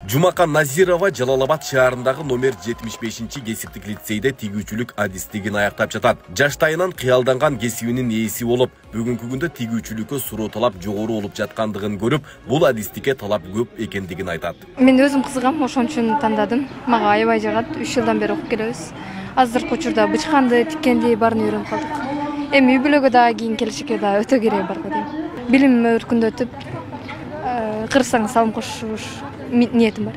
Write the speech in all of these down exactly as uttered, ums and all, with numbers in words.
Жумакан Назирова Жалал Абад шаарындагы номер жетимиш бешинчи кесиптик лицейде тигүүчүлүк адистигин аяктап жатат. Жаштайынан кыялданган кесибинин ээси болуп, бүгүнкү күндө тигүүчүлүккө суроо талап жогору болуп жаткандыгын көрүп, бул адистикке талап көп экендигин айтат. Мен өзүм кызыгам, ошон үчүн тандадым. Мага аябай жагат. үч жылдан бери окуп келебиз. Азыркы учурда бычканды, тиккенди баарын үйрөнүп калдык. Эми үй бүлөгө дагы кийин келишке дагы өтө керек бар го дейм. Билим өркүндөтүп, кырсаң салым кошуш ниетим бар.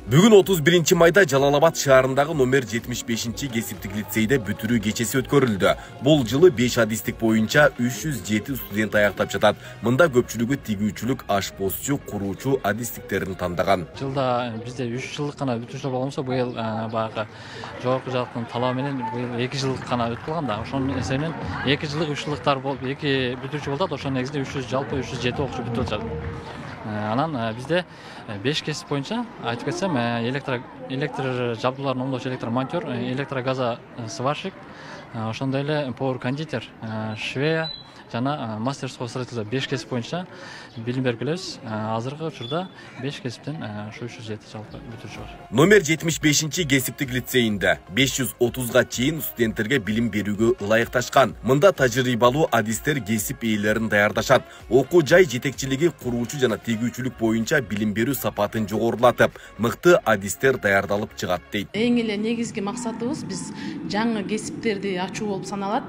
Бүгүн отуз биринчи майда Жалал Абад шаарындагы номер жетимиш бешинчи кесиптик лицейде бүтүрүү кечеси өткөрүлдү. Бул жылы беш адистик боюнча үч жүз жети студент аяктап жатат. Мында көпчүлүгү тигүүчүлүк, ашпозчу, куруучу адистиктерин тандаган. Жылда бизде үч жылдык гана бүтүүчүлөр болгонсо, быйыл баягы жогорку жактын талабы менен быйыл эки жылдык гана өтүп калган да. Ошонун эсебинен эки жылдык, үч жылдыктар болуп, эки бүтүүчү болот. Ошонун негизинде үч жүз жалпы үч жүз жети окуучу бүтүп атат. Анан бизде беш кесип боюнча айтып кетсем, электр электр жабдууларын оңдоочу электромонтер, электрогаза сварщик, ошондой эле повар кондитер, швея жана мастерского строительства беш кесип боюнча билим берип келебиз. Азыркы учурда беш кесиптен ушу үч жүз жети жалпы бүтүүчү бар. Номер жетимиш бешинчи кесиптик лицейинде беш жүз отузга чейин студенттерге билим берүүгө ылайыкташкан. Мында тажрыйбалуу адистер кесип ээлерин даярдашат. Окуу жай жетекчилиги куруучу жана тигүүчүлүк боюнча билим берүү сапатын жогорулатып, мыкты адистер даярдалып чыгат дейт. Эң эле негизги максатыбыз биз жаңы кесиптерди ачуу болуп саналат.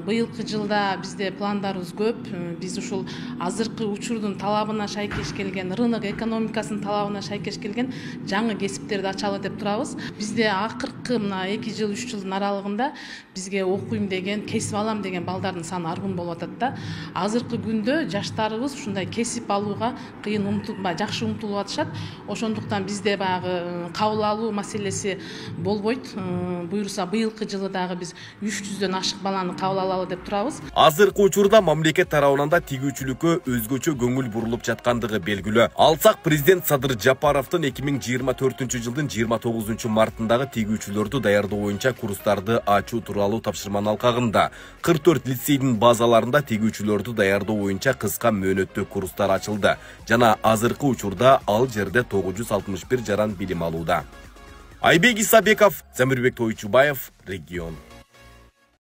Быйылкы жылда бизде пландарыбыз көп. Биз ушул азыркы учурдун талабына шайкеш келген, рынок экономикасынын талабына шайкеш келген жаңы кесиптерди ачалы деп турабыз. Бизде акыркы мына эки жыл, үч жылдын аралыгында бизге окуйм деген, кесип алам деген балдардын саны аргын болуп атат да. Азыркы күндө жаштарыбыз ушундай кесип алууга кыйын умтулбай, жакшы умтулуп атышат. Ошондуктан бизде баягы кабыл алуу маселеси болбойт. Буюрса быйылкы жылы дагы биз үч жүздөн ашык баланы кабыл алалы деп турабыз. Азыркы учурда мамлекет тарабынан да тигүүчүлүккө өзгөчө көңүл бурулуп жаткандыгы белгилүү. Алсак президент Садыр Жапаровдун эки миң жыйырма төртүнчү жылдын жыйырма тогузунчу мартындагы тигүүчүлөрдү даярдоо боюнча курстарды ачуу тууралуу тапшырманын алкагында кырк төрт лицейдин базаларында тигүүчүлөрдү даярдоо боюнча кыска мөөнөттүү курстар ачылды жана азыркы учурда ал жерде тогуз жүз алтымыш бир жаран билим алууда. Айбек Исабеков, Замирбек Тойчубаев, Регион.